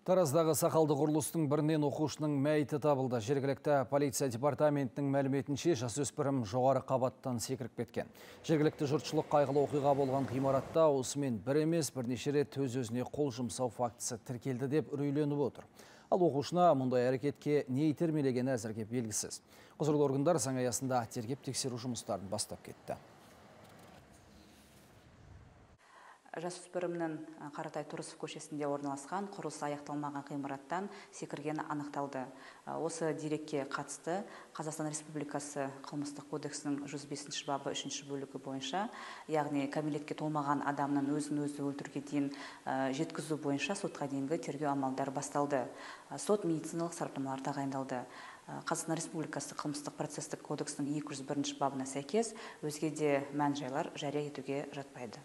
Тараздағы сақалды құрылыстың бірінен оқушының мәйіті табылды. Жергілікті полиция департаментінің мәліметінше жасөспірім жоғары қабаттан секіріп кеткен. Жергілікті жұртшылық қайғылы оқиға болған ғимаратта осымен бір емес бірнеше рет өз-өзіне қол жұмсау фактісі тіркелді деп үрейленіп отыр. Ал оқушына мұндай әрекетке не итермелегені әзірге белгісіз. Құзырлы органдар заң аясында тергеп тексеру жұмыстарын бастап кетті. Жасөспірімнің Қаратай Тұрысов көшесінде орналасқан құрылысы аяқталмаған ғимараттан секіргені анықталды. Осы дерекке қатысты Қазақстан Республикасы қылмыстық кодексінің 105 бабы 3 бөлігі бойынша, яғни кәмелетке толмаған адамның өзін-өзі өлтіруге дейін жеткізу бойынша сотқа дейінгі тергеу амалдары басталды. Сот медициналық сараптамалар тағайындалды. Қазақстан Республикасы қылмыстық процестік кодексінің 201 бабына сәйкес өзге де мән жайлар жария етуге жатпайды.